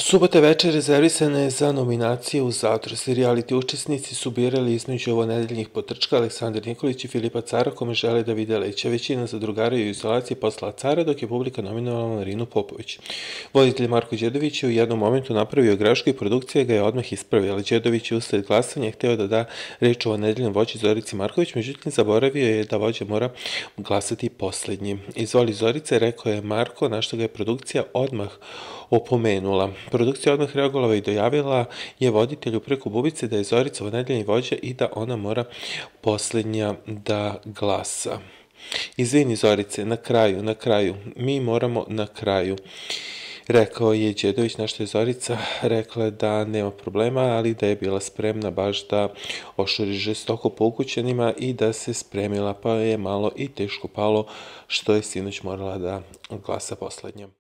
Subota večer rezervisana je za nominacije u Zaotrci. Reality učesnici su birali između ovonedeljnih potrčka Aleksandar Nikolić i Filipa Cara, kome žele da vide leće. Većina zadrugara je u izolaciji poslala Cara, dok je publika nominovala Marinu Popović. Voditelj Marko Đedović je u jednom momentu napravio grešku i produkcija ga je odmah ispravila. Đedović je usled glasanja hteo da da reč ovonedeljnom vođi Zorici Marković, međutim zaboravio je da vođa mora glasati poslednji. Izvoli Zorice, rekao je Marko, na što ga je produkcija odmah opomenula. Produkcija odmah reagovala i dojavila je voditelju preko bubice da je Zorica ovonedeljni vođa i da ona mora poslednja da glasa. Izvini Zorice, na kraju, mi moramo na kraju, rekao je Đedović, na što je Zorica rekla da nema problema, ali da je bila spremna baš da ošuri žestoko po ukućanima i da se spremila, pa je malo i teško palo što je sinoć morala da glasa poslednja.